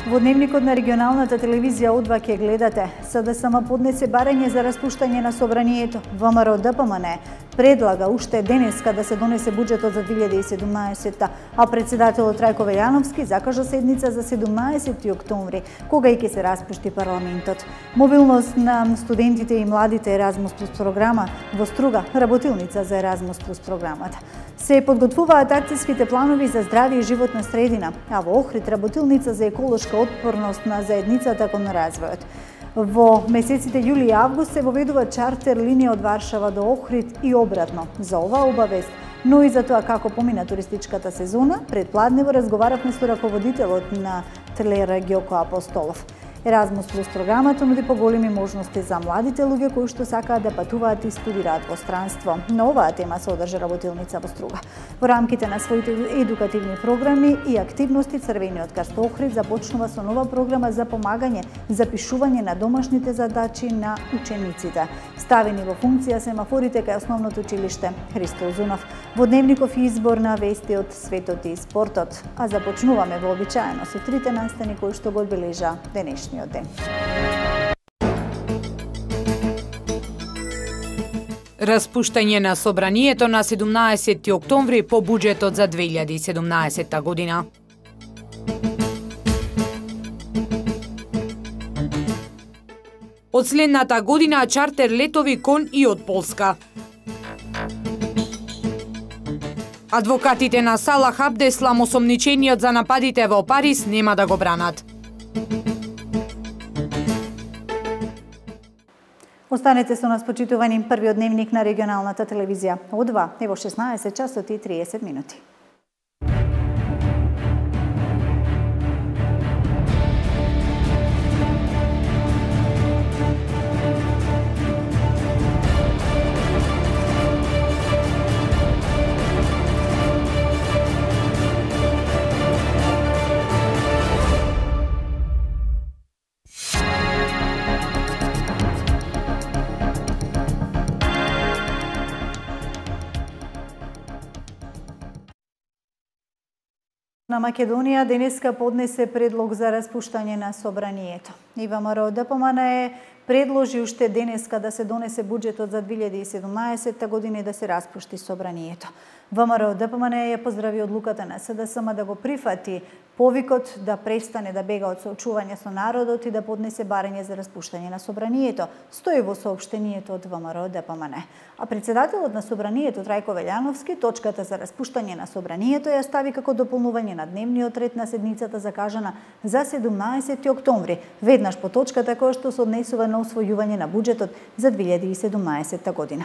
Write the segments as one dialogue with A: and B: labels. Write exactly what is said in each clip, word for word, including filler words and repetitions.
A: Во дневникот на регионалната телевизија О два ќе гледате. СДСМ поднесе барање за распуштање на собранието. ВМРО Д П М Н предлага уште денеска да се донесе буџетот за две илјади и седумнаесетта, а председателот Трајко Велјановски закажа седница за седумнаесети октомври, кога и ќе се распушти парламентот. Мобилност на студентите и младите Еразмус плюс програма во Струга, работилница за Еразмус плюс програмата. Се подготвуваат акцијските планови за здравје и животна средина, а во Охрид работилница за еколошка отпорност на заедницата кон развојот. Во месеците јули и август се воведува чартер линија од Варшава до Охрид и обратно. За оваа обавест, но и за тоа како помина туристичката сезона, предпладнево разговаравме со раководителот на Телера Ѓоко Апостолов. Еразмус плюс програмата нуди поголеми можности за младите луѓе кои што сакаат да патуваат и студираат во странство. На оваа тема се одржа работилница во Струга. Во рамките на своите едукативни програми и активности, Црвениот крст Охрид започнува со нова програма за помагање за пишување на домашните задачи на учениците. Ставени во функција семафорите кај основното училиште Христо Узунов. Во дневников избор на вести од светот и спортот, а започнуваме вообичаено со трите настани кои што го одбележа денешниот ден.
B: Распуштање на собранието на седумнаесети октомври по буџетот за две илјади и седумнаесетта година. Од следната година чартер летови кон и од Полска. Адвокатите на Салах Абдеслам осомничениот за нападите во Париз нема да го бранат.
A: Останете со нас, почитувани, првиот дневник на регионалната телевизија О два е во шеснаесет часот и триесет минути. На Македонија денеска поднесе предлог за распуштање на собранието. И ВМРО Д П М Н предложи уште денеска да се донесе буџетот за две илјади и седумнаесетта година и да се распушти собранието. ВМРО Д П М Н ја поздрави одлуката на СДСМ да го прифати повикот да престане да бега од соочување со народот и да поднесе барање за распуштање на собранието, стои во соопштението од ВМРО Д П М Н. А председателот на собранието Трајко Велјановски точката за распуштање на собранието ја стави како дополнување на дневниот ред на седницата закажана за седумнаесети октомври, веднаш по точката која што се однесува на усвојување на буџетот за две илјади и седумнаесетта година.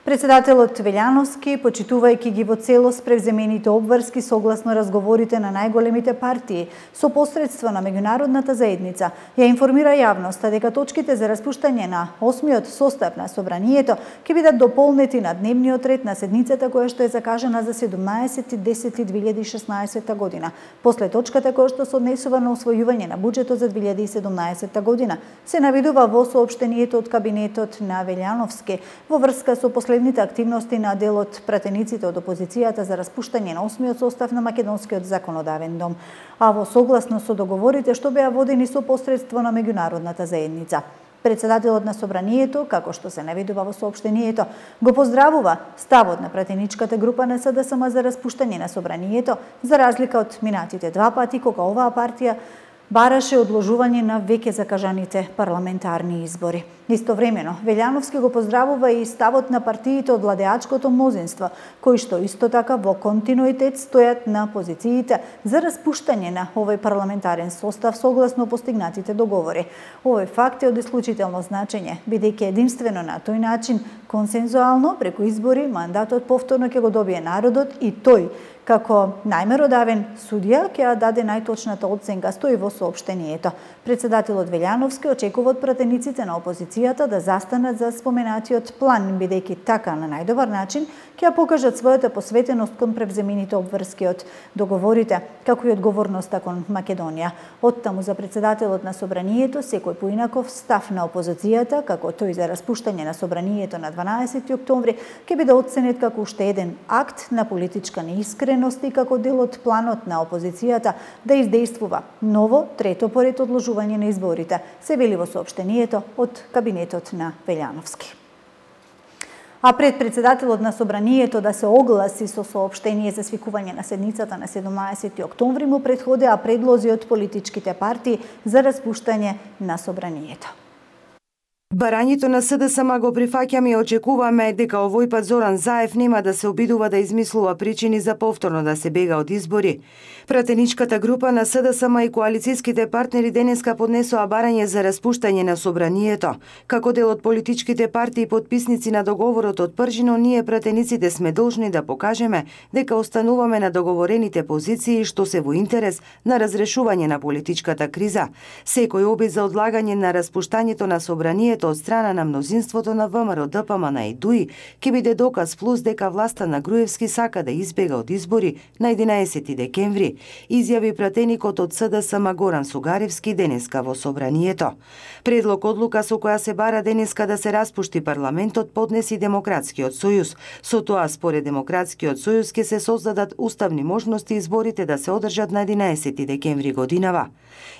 A: Председателот Велјановски, почитувајќи ги во целост превземените обврски согласно разговорите на најголемите партии со посредство на меѓународната заедница, ја информира јавноста дека точките за распуштање на осмиот состав на собранието ќе бидат дополнети на дневниот ред на седницата која што е закажана за седумнаесети десети две илјади и шеснаесетта година, после точката која што се однесува на усвојување на буџетот за две илјади и седумнаесетта година, се навидува во соопштението од кабинетот на Велјановски во врска со последните активности на дел од пратениците од опозицијата за распуштање на осмиот состав на Македонскиот законодавен дом, а во согласно со договорите што беа водени со посредство на меѓународната заедница. Председателот на собранието, како што се навидува во соопштението, го поздравува ставот на пратеничката група на СДСМ за распуштање на собранието, за разлика од минатите два пати кога оваа партија бараше одложување на веќе закажаните парламентарни избори. Истовремено, Велјановски го поздравува и ставот на партиите од владеачкото мнозинство, кои што исто така во континуитет стојат на позициите за распуштање на овој парламентарен состав согласно постигнатите договори. Овој факт е од исклучително значење, бидејќи единствено на тој начин, консензуално, преку избори, мандатот повторно ќе го добие народот и тој, како најмеродавен судија, ќе ја даде најточната оценка, стои во соопштението. Председателот Велјановски очекува од пратениците на опозицијата опозицијата да застанат за споменатиот план, бидејќи така на најдобар начин ќе покажат својата посветеност кон превземените обврски од договорите, како и одговорноста кон Македонија. Оттаму за председателот на собранието секој поинаков став на опозицијата, како тој за распуштање на собранието на дванаесети октомври, ќе биде оценет како уште еден акт на политичка неискреност и како дел од планот на опозицијата да издействува ново трето поред одложување на изборите, се вели во соопштението од кабинетот на Велјановски. А пред председателот на собранието да се огласи со соопштение за свикување на седницата на седумнаесети октомври му претходеа предлози од политичките партии за распуштање на собранието.
C: Барањето на СДСМ го прифаќаме и очекуваме дека овој пат Зоран Заев нема да се обидува да измислува причини за повторно да се бега од избори. Пратеничката група на СДСМ и коалицијските партнери денеска поднесоа барање за распуштање на собранието. Како дел од политичките партии подписници на договорот од Пржино, ние пратениците сме должни да покажеме дека остануваме на договорените позиции што се во интерес на разрешување на политичката криза. Секој обид за одлагање на распуштањето на собранието од страна на мнозинството на ВМРО, ДПМН и ДУИ ќе биде доказ плюс дека власта на Груевски сака да избега од избори на единаесети декември, изјави пратеникот од СДСМ Горан Сугаревски денеска во собранието. Предлог одлука со која се бара денеска да се распушти парламентот поднеси Демократскиот сојуз. Со тоа според Демократскиот сојуз ќе се создадат уставни можности изборите да се одржат на единаесети декември годинава.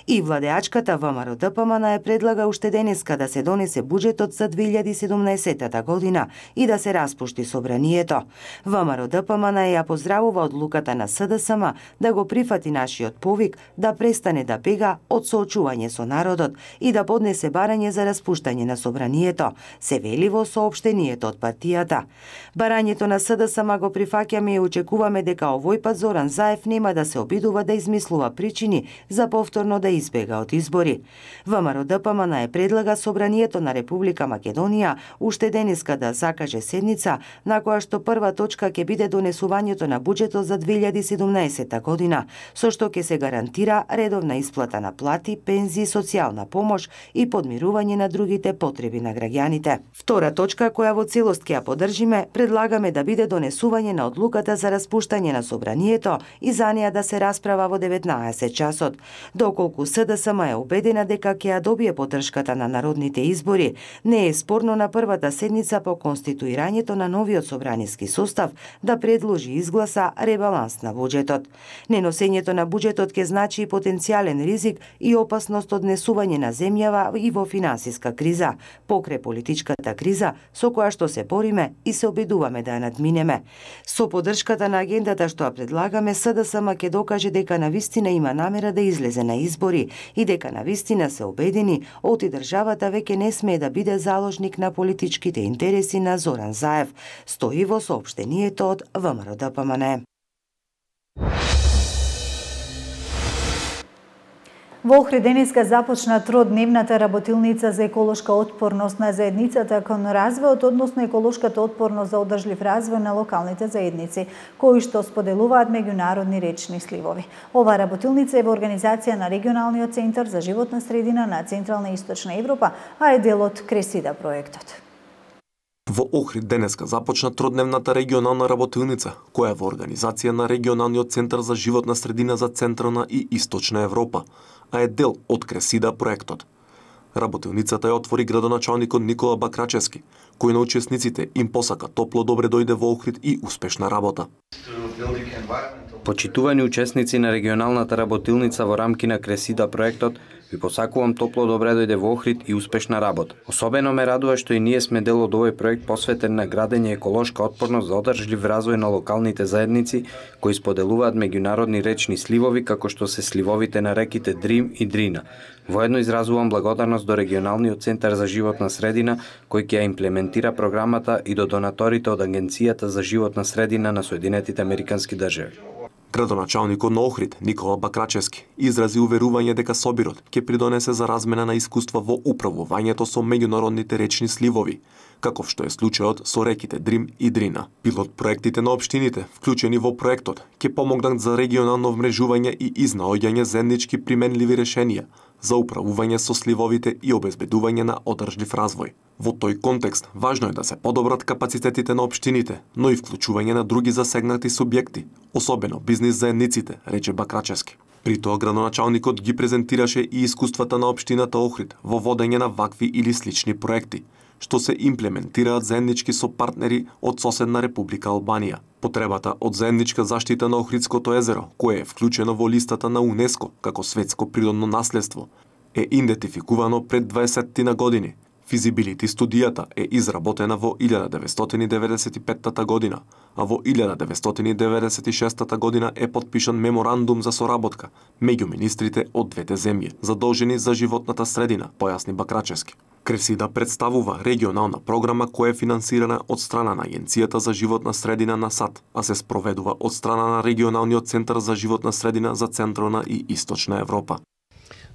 C: И владеачката ВМРО ДПМН е предлага уште денеска да се донесе буџетот за две илјади и седумнаесета година и да се распушти собранието. ВМРО ДПМН ја поздравува одлуката на СДСМ да го прифати нашиот повик да престане да бега од соочување со народот и да поднесе барање за распуштање на собранието, се вели во соопштението од партијата. Барањето на СДСМ го прифаќаме и очекуваме дека овој пат Зоран Заев нема да се обидува да измислува причини за повторно да избега од избори. ВМРО ДПМН е предлага собранието на Република Македонија уште денеска да закаже седница на која што прва точка ќе биде донесувањето на буџетот за две илјади и седумнаесета година, со што ќе се гарантира редовна исплата на плати, пензии, социјална помош и подмирување на другите потреби на граѓаните. Втора точка која во целост ќе ја поддржиме, предлагаме да биде донесување на одлуката за распуштање на собранието и за неа да се расправа во деветнаесет часот. Доколку СДСМ е убедена дека ќе ја добие поддршката на народните избори, не е спорно на првата седница по конституирањето на новиот собраниски состав да предложи изгласа ребаланс на буџетот. Неносењето на буџетот ќе значи и потенцијален ризик и опасност од несување на земјава и во финансиска криза, покрај политичката криза со која што се бориме и се обидуваме да ја надминеме. Со поддршката на агендата што ја предлагаме, СДСМ ќе докаже дека навистина има намера да излезе на избори и дека навистина се убедени оти државата веќе не смее да биде заложник на политичките интереси на Зоран Заев, стои во соопштението од ВМРО ДПМН.
A: Во Охрид денеска започна тродневната работилница за еколошка отпорност на заедницата кон развојот, односно еколошката отпорност за одржлив развој на локалните заедници, кои што споделуваат меѓународни речни сливови. Ова работилница е во организација на Регионалниот центар за животна средина на Централна и Источна Европа, а е дел од Кресида проектот.
D: Во Охрид денеска започна тродневната регионална работилница, која е во организација на Регионалниот центар за животна средина за Централна и Источна Европа, а е дел од Кресида проектот. Работилницата ја отвори градоначалникот Никола Бакрачевски, кој на учесниците им посака топло добре дојде во Охрид и успешна работа.
E: Почитувани учесници на регионалната работилница во рамки на Кресида проектот, ви посакувам топло добре дојде во Охрид и успешна работа. Особено ме радува што и ние сме дел од овој проект посветен на градење еколошка отпорност за одржлив развој на локалните заедници кои споделуваат меѓународни речни сливови како што се сливовите на реките Дрим и Дрина. Воедно изразувам благодарност до Регионалниот центар за животна средина кој ќе ја имплементира програмата и до донаторите од Агенцијата за животна средина на Соединетите Американски држави.
D: Градоначалникот на Охрид, Никола Бакрачевски, изрази уверување дека собирот ќе придонесе за размена на искуства во управувањето со меѓународните речни сливови, каков што е случајот со реките Дрим и Дрина. Пилот проектите на општините, вклучени во проектот, ќе помогнат за регионално вмрежување и изнаоѓање заеднички применливи решенија за управување со сливовите и обезбедување на одржлив развој. Во тој контекст, важно е да се подобрат капацитетите на општините, но и вклучување на други засегнати субјекти, особено бизнис заедниците, рече Бакрачевски. При тоа градоначалникот ги презентираше и искуствата на општината Охрид во водење на вакви или слични проекти, што се имплементираат заеднички со партнери од соседна Република Албанија. Потребата од заедничка заштита на Охридското езеро, кое е вклучено во листата на УНЕСКО како светско природно наследство, е идентификувано пред дваесет години. Физибилити студијата е изработена во илјада деветстотини деветдесет и петта година, а во илјада деветстотини деветдесет и шеста година е потпишан меморандум за соработка меѓу министрите од двете земји, задолжени за животната средина, појасни Бакрачевски. Кресида представува регионална програма која е финансирана од страна на Агенцијата за животна средина на САД, а се спроведува од страна на Регионалниот центар за животна средина за Централна и Источна Европа.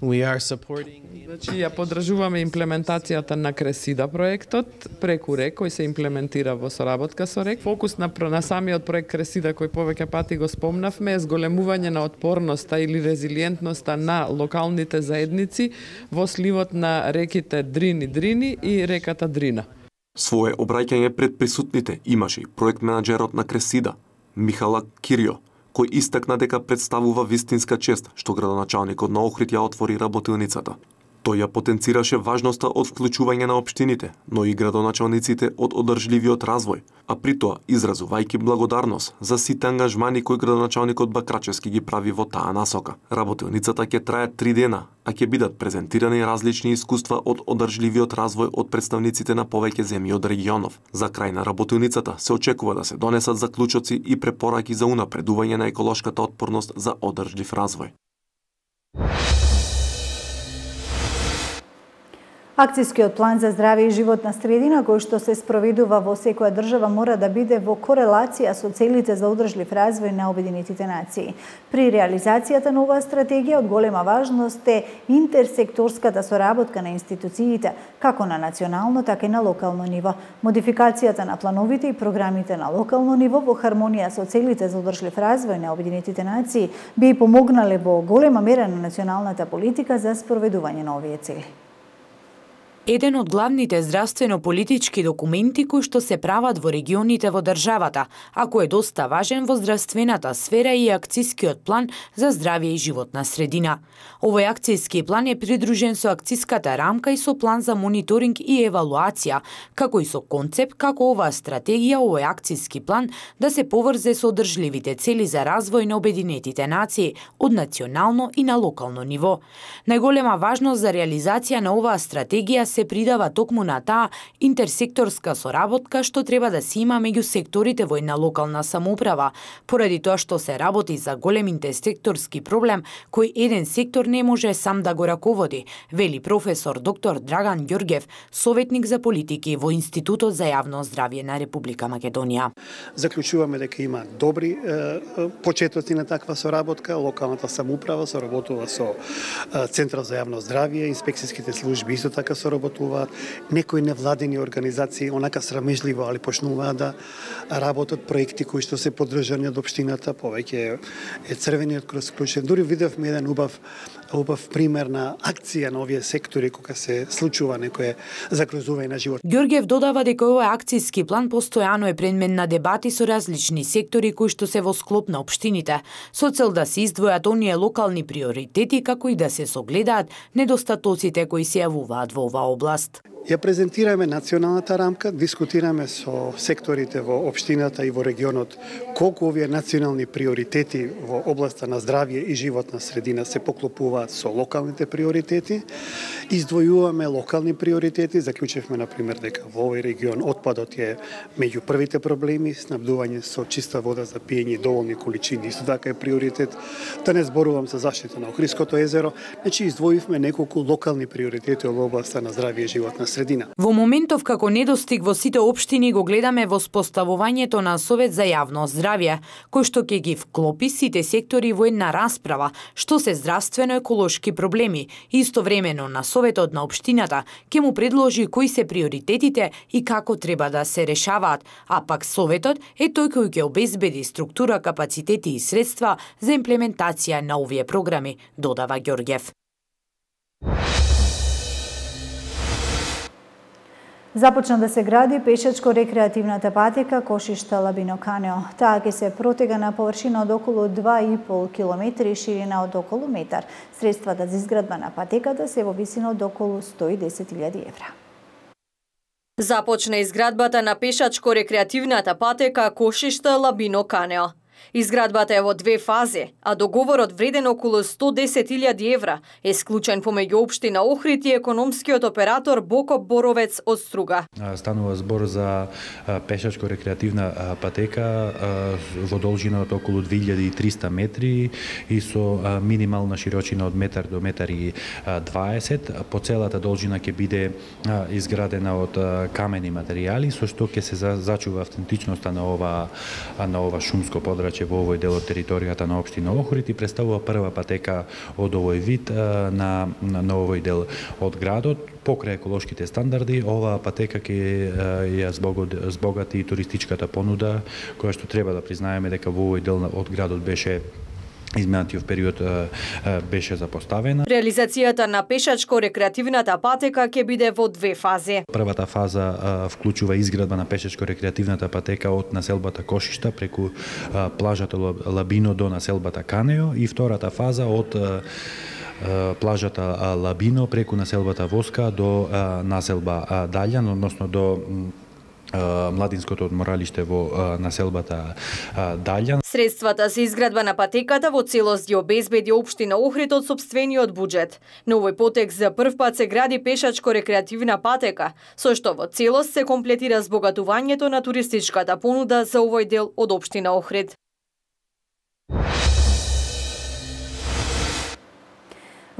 F: We are supporting...
G: Значи, ја поддржуваме имплементацијата на Кресида проектот преку РЕК, кој се имплементира во соработка со РЕК. Фокус на, на самиот проект Кресида, кој повеќе пати го спомнавме, е зголемување на отпорноста или резилиентноста на локалните заедници во сливот на реките Дрин и Дрини и реката Дрина.
D: Свое обраќање пред присутните имаше и проект менаџерот на Кресида, Михала Кирио, кој истакна дека представува вистинска чест што градоначалникот на Охрид ја отвори работилницата. Тој ја потенцираше важноста од вклучување на општините, но и градоначалниците од одржливиот развој, а при тоа изразувајќи благодарност за сите ангажмани кои градоначалникот Бакрачевски ги прави во таа насока. Работилницата ќе трае три дена, а ќе бидат презентирани различни искуства од одржливиот развој од представниците на повеќе земји од регионов. За крај на работилницата се очекува да се донесат заклучоци и препораки за унапредување на еколошката отпорност за одржлив развој.
A: Акцијскиот план за здравје и животна средина, кој што се спроведува во секоја држава, мора да биде во корелација со целите за одржлив развој на Обединетите нации. При реализацијата на оваа стратегија од голема важност е интерсекторската соработка на институциите, како на национално, така и на локално ниво. Модификацијата на плановите и програмите на локално ниво во хармонија со целите за одржлив развој на Обединетите нации би помогнале во голема мера на националната политика за спроведување на овие цели.
B: Еден од главните здравствено-политички документи кои што се прават во регионите во државата, а кој е доста важен во здравствената сфера и акцијскиот план за здравје и животна средина. Овој акцијски план е придружен со акцијската рамка и со план за мониторинг и евалуација, како и со концепт како оваа стратегија, овој акцијски план да се поврзе со одржливите цели за развој на Обединетите нации од национално и на локално ниво. Најголема важност за реализација на оваа стратегија се придава токму на таа интерсекторска соработка што треба да се има меѓу секторите во една локална самоуправа, поради тоа што се работи за голем интерсекторски проблем кој еден сектор не може сам да го раководи, вели професор доктор Драган Ѓорѓев, советник за политики во Институтот за јавно здравје на Република Македонија.
H: Заклучуваме дека има добри е, почетоци на таква соработка, локалната самоуправа соработува со е, Центар за јавно здравје, инспекцијските служби исто така соработуваат, некои невладени организации онака срамежливо, али почнуваат да работат проекти кои што се поддржани од општината, повеќе е Црвениот крост вклучен. Дури видовме еден убав убав пример на акција на овие сектори кога се случува некое загрозување на живот.
B: Ѓорѓев додава дека овој акцијски план постојано е предмет на дебати со различни сектори кои што се во склоп на општините, со цел да се издвојат оние локални приоритети како и да се согледаат недостатоците кои се јавуваат во оваа област.
H: Ја презентираме националната рамка, дискутираме со секторите во општината и во регионот колку овие национални приоритети во областа на здравје и животна средина се поклопуваат со локалните приоритети. Издвојуваме локални приоритети, заклучивме на пример дека во овој регион отпадот е меѓу првите проблеми, снабдување со чиста вода за пиење и доволни количини исто така е приоритет. Да не зборувам за заштита на Охридското езеро, значи издвоивме неколку локални приоритети во областа на здравје и животна средина.
B: Во моментов како недостиг во сите општини го гледаме во споставувањето на Совет за јавно здравје, кој што ќе ги вклопи сите сектори во една расправа, што се здравствено-еколошки проблеми. Истовремено на Советот на општината ќе му предложи кои се приоритетите и како треба да се решаваат, а пак Советот е тој кој ќе обезбеди структура, капацитети и средства за имплементација на овие програми, додава Ѓорѓев.
A: Започна да се гради пешачко-рекреативната патека Кошишта-Лабино-Канео. Таа ќе се протега на површина од околу два и пол километри и ширина од околу метар. Средствата за изградба на патеката се во висина од околу сто и десет илјади евра.
I: Започна изградбата на пешачко-рекреативната патека Кошишта-Лабино-Канео. Изградбата е во две фази, а договорот вреден околу сто десет илјади евра е склучен помеѓу општина Охрид и економскиот оператор Бокоп Боровец од Струга.
J: Станува збор за пешачко-рекреативна патека во должина од околу две илјади и триста метри и со минимална широчина од метар до метар и дваесет. По целата должина ќе биде изградена од камени материјали, со што ќе се зачува автентичноста на ова на ова шумско подрачје во овој дел од територијата на општина Охрид и представува прва патека од овој вид на, на, на овој дел од градот. Покрај еколошките стандарди, оваа патека ќе ја збогати и туристичката понуда, која што треба да признаеме дека во овој дел од градот беше изминатиот период беше запоставена.
I: Реализацијата на пешачко-рекреативната патека ќе биде во две фази.
J: Првата фаза вклучува изградба на пешачко-рекреативната патека од населбата Кошишта преку плажата Лабино до населбата Канео и втората фаза од плажата Лабино преку населбата Воска до населба Даљан, односно до младинското одморалиште во населбата Даљан.
I: Средствата за изградба на патеката во целост ги обезбеди општина Охрид од сопствениот буџет. На овој потек за прв пат се гради пешачко-рекреативна патека, со што во целост се комплетира збогатувањето на туристичката понуда за овој дел од општина Охрид.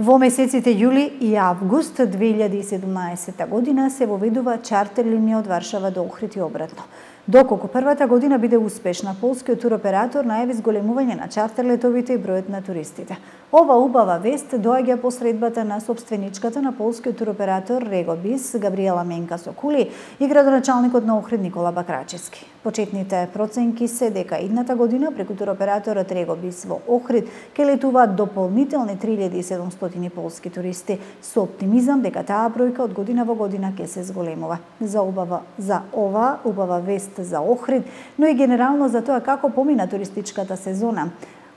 A: Во месеците јули и август две илјади и седумнаесетта година се воведува чартер линија од Варшава до Охрид и обратно. Доколку првата година биде успешна, полскиот туроператор најави зголемување на чартер летовите и бројот на туристите. Ова убава вест доаѓа по средбата на собственичката на полскиот туроператор Регобис Габриела Менка Сокули и градоначалникот на Охрид Никола Бакрачевски. Почетните проценки се дека идната година преку туроператорот Регобис во Охрид ќе летуваат дополнителни три илјади и седумстотини полски туристи со оптимизам дека таа бројка од година во година ќе се зголемува. За убава за ова убава вест за Охрид, но и генерално за тоа како помина туристичката сезона.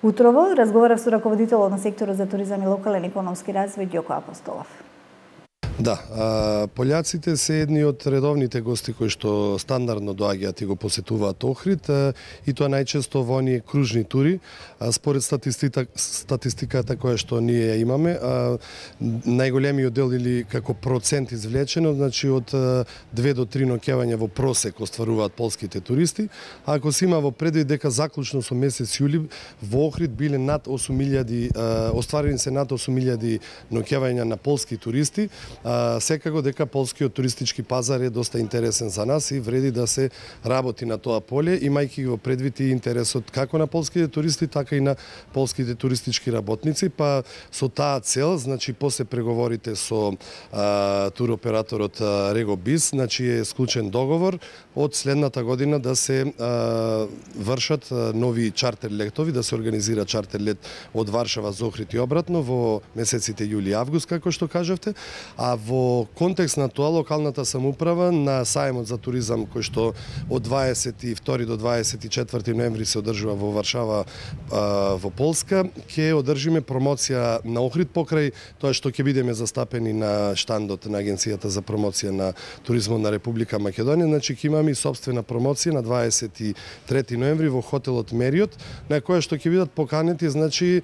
A: Утрово разговарав со раководителот на секторот за туризам и локален економски развој Ѓоко Апостолов.
K: Да, пољаците се едни од редовните гости кои што стандардно доаѓаат и го посетуваат Охрид и тоа најчесто во оние кружни тури. Според статистика, статистиката која што ние ја имаме, најголемиот дел или како процент извлечено, значи од две до три ноќевања во просек остваруваат полските туристи. А ако се има во предвид дека заклучно со месец јули во Охрид биле над осум илјади, остварени се над осум илјади ноќевања на полски туристи, секако дека полскиот туристички пазар е доста интересен за нас и вреди да се работи на тоа поле, имајќи го предвид и интересот како на полските туристи, така и на полските туристички работници, па со таа цел, значи после преговорите со а, туроператорот Регобис, значи е склучен договор од следната година да се а, вршат нови чартер летови, да се организира чартер лет од Варшава за Охрид и обратно во месеците јули и август, како што кажавте. А во контекст на тоа, локалната самоуправа на сајмот за туризам кој што од дваесет и втори до дваесет и четврти ноември се одржува во Варшава а, во Полска, ќе одржиме промоција на Охрид покрај тоа што ќе бидеме застапени на штандот на Агенцијата за промоција на туризмот на Република Македонија. Значи ќе имаме и собствена промоција на дваесет и трети ноември во хотелот Мериот, на која што ќе бидат поканети значи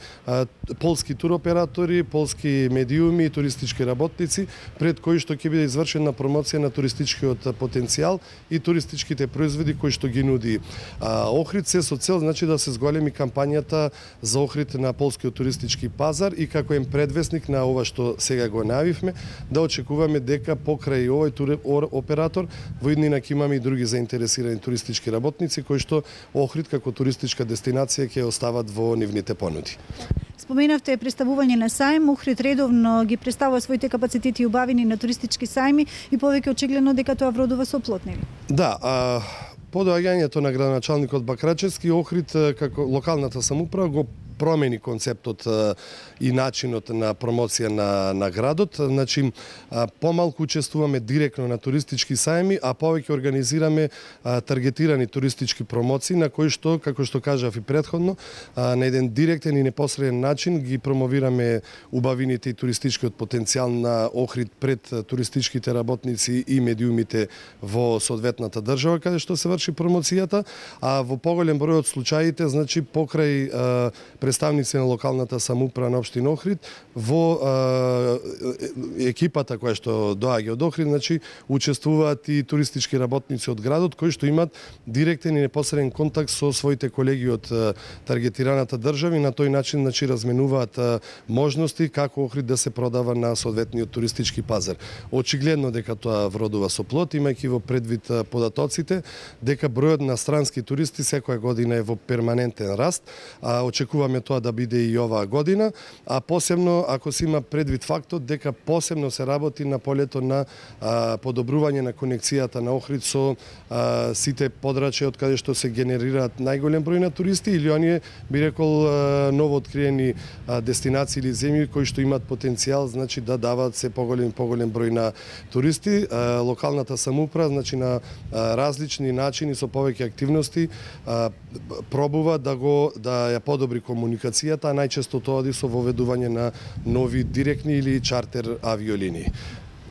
K: полски туроператори, полски медиуми и туристички работници, пред кои што ќе биде извршена промоција на туристичкиот потенцијал и туристичките производи кои што ги нуди а, Охрид, се со цел значи да се зголеми кампањата за Охрид на полскиот туристички пазар и како ем предвесник на ова што сега го најавивме, да очекуваме дека покрај овој тур оператор во иднина ќе имаме и други заинтересирани туристички работници кои што Охрид како туристичка дестинација ќе остават во нивните понуди.
A: Споменавте представување на сајм, Охрид редовно ги представува своите капацитети и убавини на туристички сајми и повеќе очигледно дека тоа вродува со плод, нели?
K: Да, а по доаѓањето на градоначалникот Бакрачевски, Охрид како локалната самоуправа го промени концептот и начинот на промоција на, на градот. Значи, помалку учествуваме директно на туристички сајми, а повеќе организираме таргетирани туристички промоции, на кои што, како што кажав и претходно, на еден директен и непосреден начин ги промовираме убавините и туристичкиот потенцијал на Охрид пред туристичките работници и медиумите во соодветната држава каде што се врши промоцијата, а во поголем број од случаите, значи покрај а, представници на локалната самоуправа на општина Охрид, во а, екипата која што доаѓа од Охрид, значи учествуваат и туристички работници од градот кои што имаат директен и непосреден контакт со своите колеги од а, таргетираната држава и на тој начин значи разменуваат а, можности како Охрид да се продава на соодветниот туристички пазар. Очигледно дека тоа вродува со плод, имајќи во предвид податоците дека бројот на странски туристи секоја година е во перманентен раст, а очекуваме тоа да биде и оваа година, а посебно ако се има предвид фактот дека посебно се работи на полето на а, подобрување на конекцијата на Охрид со а, сите подрачја од каде што се генерираат најголем број на туристи или оние би рекол а, ново откриени а, дестинации или земји кои што имаат потенцијал значи да даваат се поголем поголем број на туристи. А, локалната самоуправа значи на а, различни начини со повеќе активности а, пробува да го да ја подобри комуникацијата, а најчесто тоа оди со воведување на нови директни или чартер авиолинии.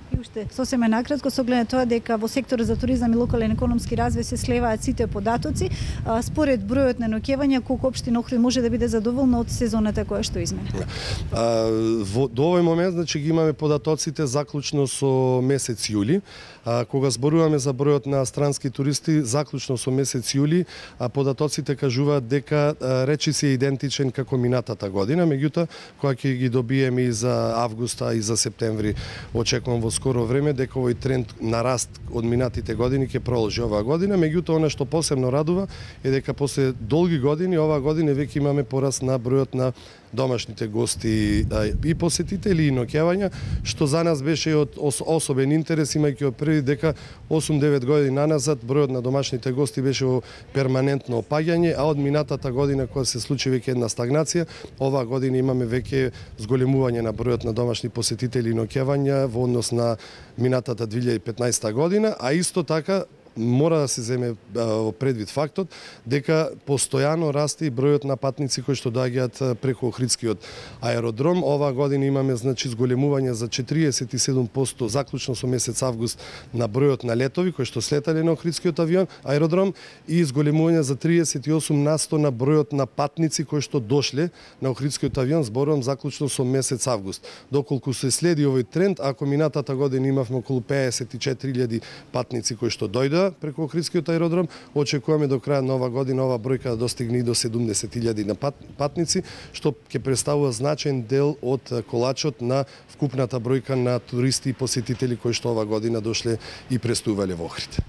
A: И уште сосема накратко со оглед на тоа дека во секторот за туризам и локален економски развој се слеваат сите податоци, а, според бројот на ноќевања колку општина Охрид може да биде задоволна од сезоната која што измина?
K: А, во, до овој момент значи ги имаме податоците заклучно со месец јули. А, кога зборуваме за бројот на странски туристи заклучно со месец јули, а податоците кажуваат дека а, речиси е идентичен како минатата година, меѓутоа кога ќе ги добиеме и за августа и за септември, очекувам во скоро време дека овој тренд на раст од минатите години ќе продолжи оваа година, меѓутоа она што посебно радува е дека после долги години оваа година веќе имаме пораст на бројот на домашните гости и посетители и ноќевања, што за нас беше од особен интерес, имајќи први дека осум-девет години наназад бројот на домашните гости беше во перманентно опаѓање, а од минатата година кога се случи веќе една стагнација, оваа година имаме веќе зголемување на бројот на домашни посетители и ноќевања во однос на минатата две илјади и петнаесета година, а исто така мора да се земе во предвид фактот дека постојано расте и бројот на патници кои што доаѓаат преку Охридскиот аеродром. Оваа година имаме значи зголемување за четириесет и седум проценти заклучно со месец август на бројот на летови кои што слетале на Охридскиот авион аеродром и зголемување за триесет и осум насто на бројот на патници кои што дошле на Охридскиот авион, зборувам заклучно со месец август. Доколку се следи овој тренд, ако минатата година имавме околу пеесет и четири илјади патници кои што дојдоа преку Охридскиот аеродром, очекуваме до крај на оваа година оваа бројка да достигне и до седумдесет илјади на пат, патници, што ќе представува значаен дел од колачот на вкупната бројка на туристи и посетители кои што оваа година дошле и престувале во Охрид.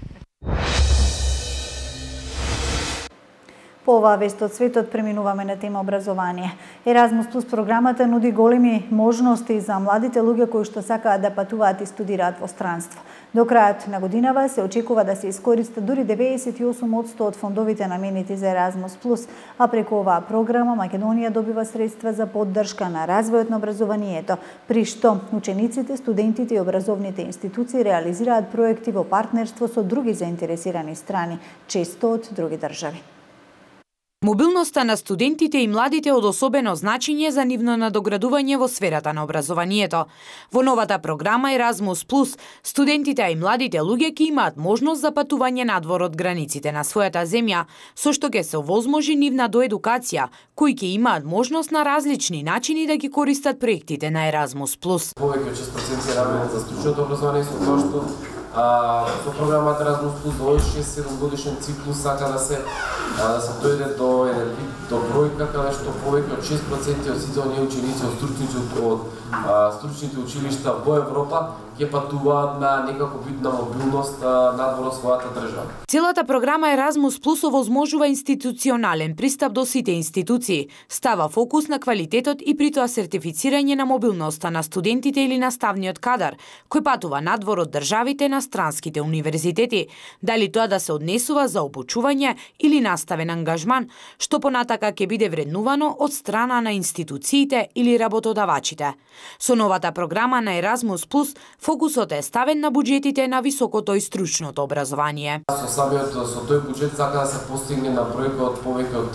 A: По оваа вест од светот преминуваме на тема образование. Еразмус плюс програмата нуди големи можности за младите луѓе кои што сакаат да патуваат и студираат во странство. До крајот на годинава се очекува да се искористат дури деветдесет и осум одсто од фондовите наменети за Еразмус плюс, а преку оваа програма Македонија добива средства за поддршка на развојот на образованието, при што учениците, студентите и образовните институции реализираат проекти во партнерство со други заинтересирани страни, често од други држави.
B: Мобилноста на студентите и младите од особено значење за нивно надоградување во сферата на образованието. Во новата програма Еразмус плюс, студентите и младите луѓе ќе имаат можност за патување надвор од границите на својата земја, со што ќе се овозможи нивна доедукација, кои ќе имаат можност на различни начини да ги користат проектите на Еразмус плюс.
L: Повеќе од шест проценти работат за стручното образование, со тоа што А, со програмата Еразмус плюс до овој шест-седум годишен циклус сака да се а, да се дојде до еден вид до бројка каде што повеќе од шест проценти од сите оние ученици од стручните од а, стручните училишта во Европа ќе патуваат на некако вид на мобилност надвор од својата држава.
B: Целата програма Еразмус плюс овозможува институционален пристап до сите институции, става фокус на квалитетот и при тоа сертифицирање на мобилноста на студентите или наставниот кадар, кој патува надвор од државите на странските универзитети, дали тоа да се однесува за обучување или наставен ангажман, што понатака ќе биде биде вреднувано од страна на институциите или работодавачите. Со новата програма на Еразмус Плюс, фокусот е ставен на буџетите на високото и стручното образование.
L: Со самиот со тој буџет сака да се постигне на бројка од повеќе од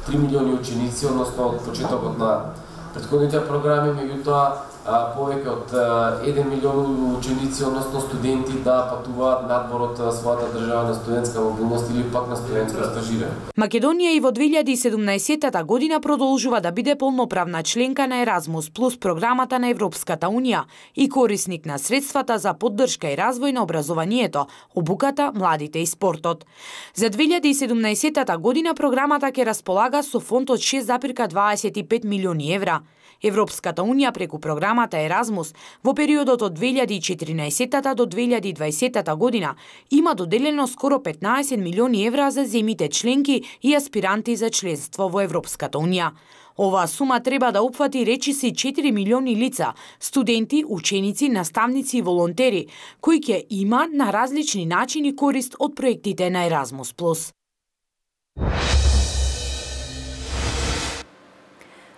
L: три милиони ученици, односно од почетокот на претходните програми, меѓутоа повеќе од еден милион ученици, односно студенти, да патуваат надвор од својата држава на студентска мобилност или пак на студентско стажирање.
B: Македонија и во две илјади и седумнаесетта година продолжува да биде полноправна членка на Еразмус Плюс програмата на Европската Унија и корисник на средствата за поддршка и развој на образованието, обуката, младите и спортот. За две илјади и седумнаесетта година програмата ќе располага со фонд од шест зарез дваесет и пет милиони евра. Европската Унија преку програмата Еразмус во периодот од две илјади и четиринаесетта до две илјади и дваесетта година има доделено скоро петнаесет милиони евра за земите членки и аспиранти за членство во Европската Унија. Оваа сума треба да опфати речиси четири милиони лица, студенти, ученици, наставници и волонтери, кои ќе има на различни начини корист од проектите на Еразмус Плюс.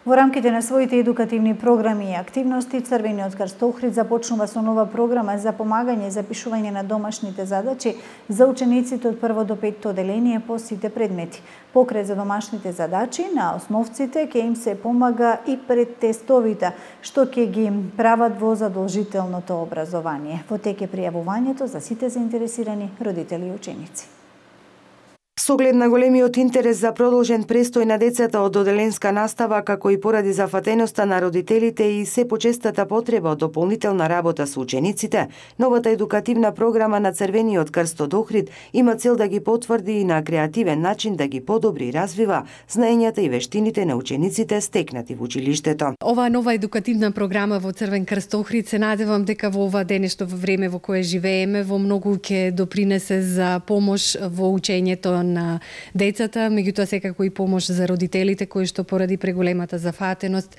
A: Во рамките на своите едукативни програми и активности, Црвениот крст Охрид започнува со нова програма за помагање за пишување на домашните задачи за учениците од прво до петто оделение по сите предмети. Покрај за домашните задачи, на основците ќе им се помага и пред тестовите, што ќе ги прават во задолжителното образование. Во тек е пријавувањето за сите заинтересирани родители и ученици.
C: Со оглед на големиот интерес за продолжен престој на децата од оделенска настава, како и поради зафатеноста на родителите и се почестата потреба од дополнителна работа со учениците, новата едукативна програма на Црвениот крст од Охрид има цел да ги потврди и на креативен начин да ги подобри и развива знаењата и вештините на учениците стекнати во училиштето.
M: Оваа нова едукативна програма во Црвен крст Охрид се надевам дека во ова денешно време во кое живееме во многу ќе допринесе за помош во учењето на децата, меѓутоа секако и помош за родителите кои што поради преголемата зафатеност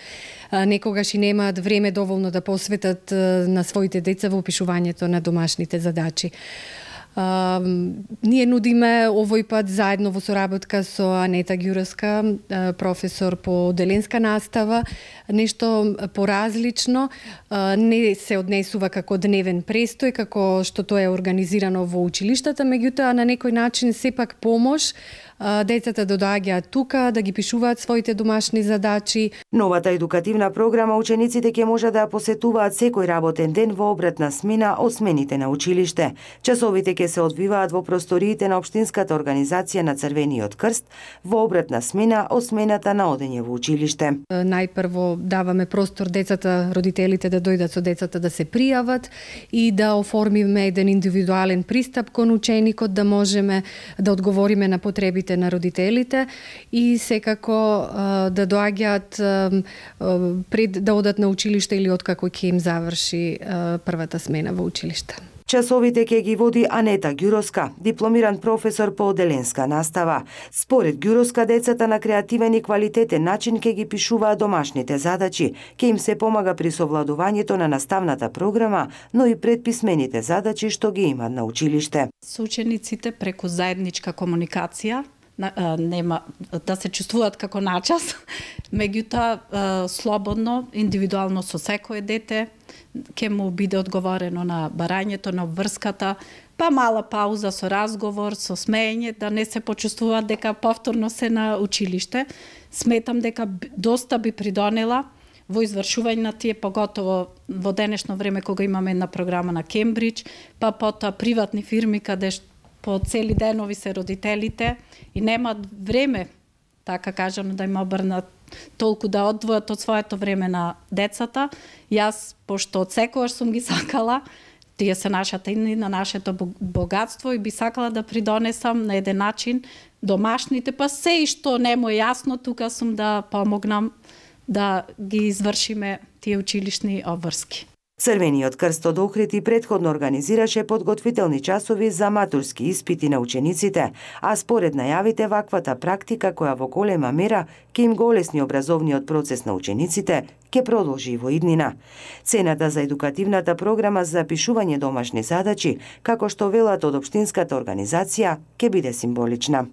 M: некогаш и немаат време доволно да посветат на своите деца во пишувањето на домашните задачи. Uh, ние нудиме овој пат заедно во соработка со Анета Ѓуровска, uh, професор по оделенска настава, нешто поразлично, uh, не се однесува како дневен престој, како што тоа е организирано во училиштата, меѓутоа на некој начин сепак помош децата да доаѓаат тука, да ги пишуваат своите домашни задачи.
C: Новата едукативна програма учениците ќе може да ја посетуваат секој работен ден во обратна смена од смените на училиште. Часовите ќе се одвиваат во просториите на Општинската организација на Црвениот крст во обратна смена од смената на одење во училиште.
M: Најпрво даваме простор децата, родителите да дојдат со децата да се пријават и да оформиме еден индивидуален пристап кон ученикот, да можеме да одговориме на потребите на родителите и секако да доаѓаат пред да одат на училиште или откако ќе им заврши првата смена во училиште.
C: Часовите ќе ги води Анета Ѓуровска, дипломиран професор по оделенска настава. Според Ѓуровска, децата на креативен и квалитетен начин ќе ги пишуваат домашните задачи, ќе им се помага при совладувањето на наставната програма, но и пред писмените задачи што ги имаат на училиште.
N: Со учениците преку заедничка комуникација нема да се чувствуваат како начас, меѓутоа слободно, индивидуално со секое дете ќе му биде одговорено на барањето, на обврската, па мала пауза со разговор, со смеење, да не се почувствуваат дека повторно се на училиште. Сметам дека доста би придонела во извршување на тие, поготово во денешно време кога имаме една програма на Кембридж, па потоа приватни фирми каде по цели денови се родителите и немаат време, така кажано, да им обрнат толку да одвојат од своето време на децата. Јас, пошто од секогаш сум ги сакала, тие се нашата и на нашето богатство и би сакала да придонесам на еден начин домашните, па се и што не му е јасно, тука сум да помогнам да ги извршиме тие училишни обврски.
C: Црвениот крст од Охрид и претходно организираше подготвителни часови за матурски испити на учениците, а според најавите ваквата практика, која во голема мера ќе им го олесни образовниот процес на учениците, ќе продолжи и во иднина. Цената за едукативната програма за пишување домашни задачи, како што велат од Општинската организација, ќе биде символична.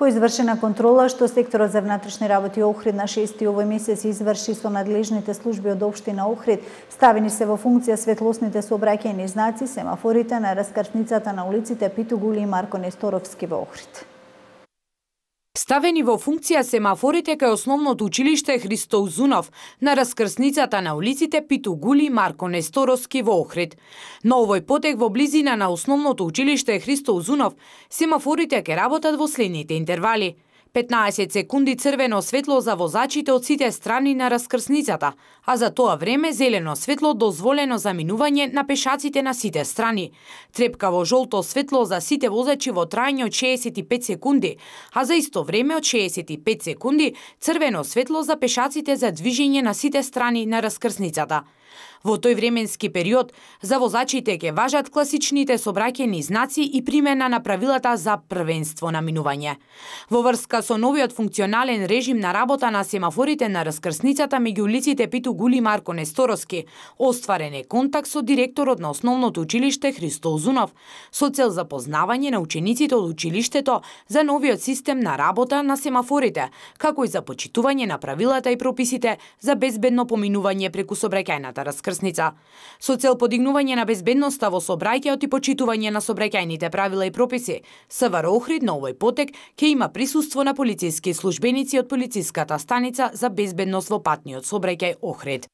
A: По извршена контрола што секторот за внатрешни работи Охрид на шести овој месец изврши со надлежните служби од општина Охрид, ставени се во функција светлосните сообраќајни знаци, семафорите на раскрсницата на улиците Питу Гули и Марко Несторовски во Охрид.
B: Ставени во функција семафорите кај основното училиште Христо Узунов на раскрсницата на улиците Питу Гули и Марко Несторовски во Охрид. На овој потек во близина на основното училиште Христо Узунов семафорите ќе работат во следните интервали: петнаесет секунди црвено светло за возачите од сите страни на раскрсницата, а за тоа време зелено светло дозволено за минување на пешаците на сите страни. Трепкаво жолто светло за сите возачи во трајање од шеесет и пет секунди, а за исто време од шеесет и пет секунди црвено светло за пешаците за движење на сите страни на раскрсницата. Во тој временски период за возачите ќе важат класичните сообраќајни знаци и примена на правилата за првенство на минување. Во врска со новиот функционален режим на работа на семафорите на раскрсницата меѓу улиците Питу Гули и Марко Несторовски, остварен е контакт со директорот на основното училиште Христо Узунов со цел запознавање на учениците од училиштето за новиот систем на работа на семафорите, како и за почитување на правилата и прописите за безбедно поминување преку сообраќајната раскрсница. Со цел подигнување на безбедноста во сообраќајот и почитување на сообраќајните правила и прописи, СВР Охрид на овој потек ќе има присуство на полициски службеници од полициската станица за безбедност во патниот сообраќај Охрид.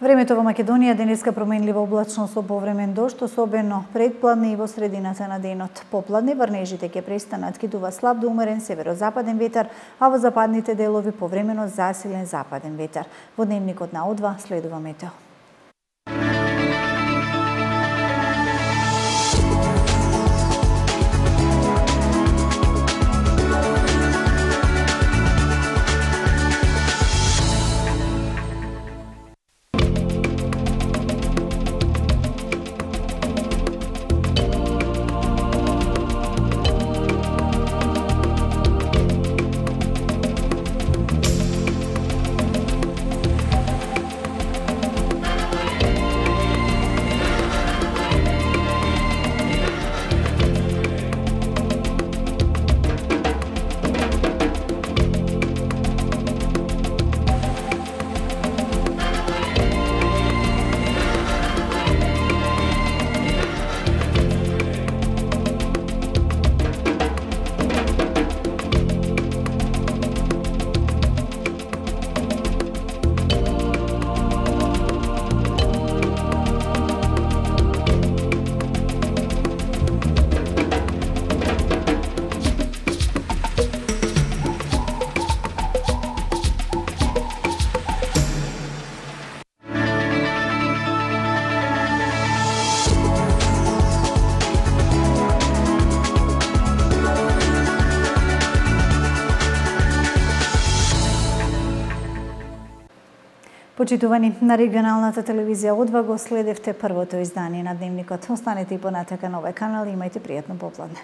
A: Времето во Македонија денеска променливо облачно со повремен дожд, особено предпладне и во средината на денот. Попладне врнежите ќе престанат, кидува слаб до умерен северозападен ветар, а во западните делови повремено засилен западен ветар. Во дневникот на О два следува метео. Почитувани, на регионалната телевизија О два го следевте првото издание на Дневникот. Останете и понатака на овој канал и имајте пријатно попладне.